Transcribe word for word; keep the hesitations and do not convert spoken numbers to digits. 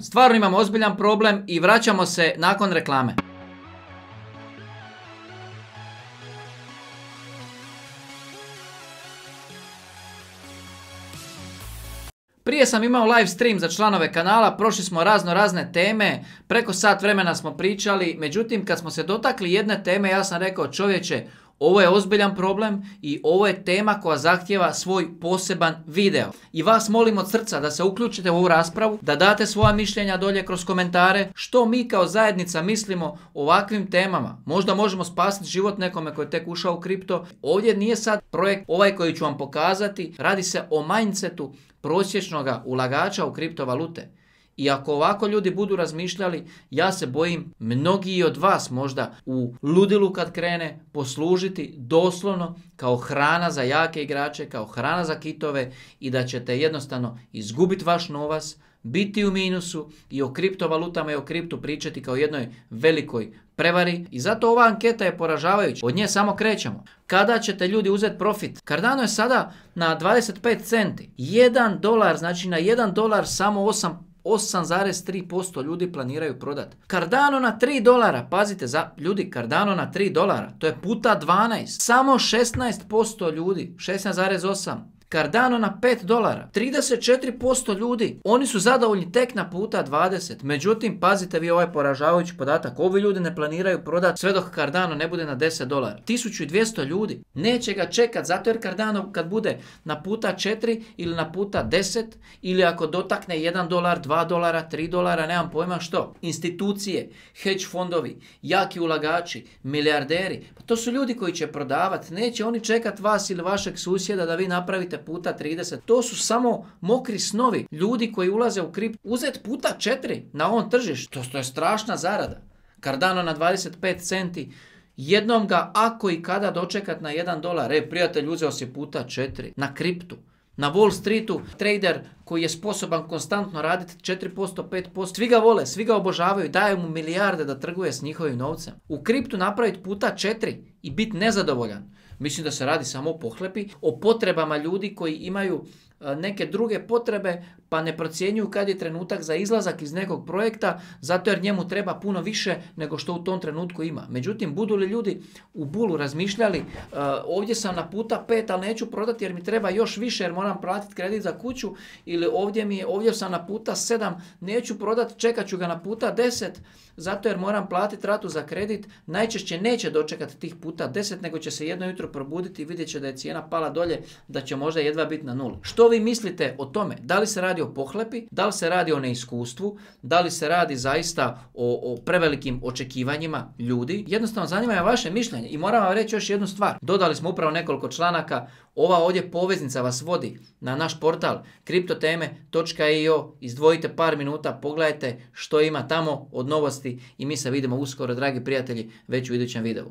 Stvarno imamo ozbiljan problem i vraćamo se nakon reklame. Prije sam imao live stream za članove kanala, prošli smo razno razne teme, preko sat vremena smo pričali, međutim kad smo se dotakli jedne teme ja sam rekao čovječe, ovo je ozbiljan problem i ovo je tema koja zahtijeva svoj poseban video. I vas molim od srca da se uključite u ovu raspravu, da date svoja mišljenja dolje kroz komentare, što mi kao zajednica mislimo o ovakvim temama. Možda možemo spasiti život nekome koji je tek ušao u kripto. Ovdje nije sad projekt ovaj koji ću vam pokazati, radi se o mindsetu prosječnog ulagača u kriptovalute. I ako ovako ljudi budu razmišljali, ja se bojim mnogi od vas možda u ludilu kad krene poslužiti doslovno kao hrana za jake igrače, kao hrana za kitove i da ćete jednostavno izgubiti vaš novac, biti u minusu i o kriptovalutama i o kriptu pričati kao jednoj velikoj prevari. I zato ova anketa je poražavajuća. Od nje samo krećemo. Kada ćete ljudi uzeti profit? Cardano je sada na dvadeset pet centi. jedan dolar, znači na jedan dolar samo osam osam zarez tri posto ljudi planiraju prodati. Cardano na tri dolara, pazite, za, ljudi, Cardano na tri dolara, to je puta dvanaest. Samo šesnaest posto ljudi, šesnaest zarez osam. Cardano na pet dolara, trideset četiri posto ljudi, oni su zadovoljni tek na puta dvadeset. Međutim, pazite vi ovaj poražavajući podatak, ovi ljudi ne planiraju prodati sve dok Cardano ne bude na deset dolara. tisuću dvjesto ljudi neće ga čekat, zato jer Cardano kad bude na puta četiri ili na puta deset ili ako dotakne jedan dolar, dva dolara, tri dolara, nemam pojma što. Institucije, hedge fondovi, jaki ulagači, milijarderi, pa to su ljudi koji će prodavati, neće oni čekat vas ili vašeg susjeda da vi napravite puta trideset. To su samo mokri snovi. Ljudi koji ulaze u kript, uzet puta četiri na ovom tržištu. To je strašna zarada. Cardano na dvadeset pet centi. Jednom ga ako i kada dočekat na jedan dolar. E, prijatelj, uzeo si puta četiri. Na kriptu. Na Wall Streetu trader koji je sposoban konstantno raditi četiri posto, pet posto. Svi ga vole, svi ga obožavaju, daju mu milijarde da trguje s njihovim novcem. U kriptu napraviti puta četiri i biti nezadovoljan. Mislim da se radi samo o pohlepi, o potrebama ljudi koji imaju neke druge potrebe pa ne procjenjuju kad je trenutak za izlazak iz nekog projekta zato jer njemu treba puno više nego što u tom trenutku ima. Međutim, budu li ljudi u bulu razmišljali uh, ovdje sam na puta pet, ali neću prodati jer mi treba još više jer moram platiti kredit za kuću, ili ovdje, mi je, ovdje sam na puta sedam, neću prodati, čekat ću ga na puta deset zato jer moram platiti ratu za kredit, najčešće neće dočekati tih puta deset nego će se jedno jutro probuditi i vidjet će da je cijena pala dolje, da će možda jedva biti na nuli. Što vi mislite o tome? Da li se radi o pohlepi? Da li se radi o neiskustvu? Da li se radi zaista o, o prevelikim očekivanjima ljudi? Jednostavno zanima me vaše mišljenje i moram vam reći još jednu stvar. Dodali smo upravo nekoliko članaka. Ova ovdje poveznica vas vodi na naš portal kriptoteme točka i o. Izdvojite par minuta, pogledajte što ima tamo od novosti i mi se vidimo uskoro, dragi prijatelji, već u idućem videu.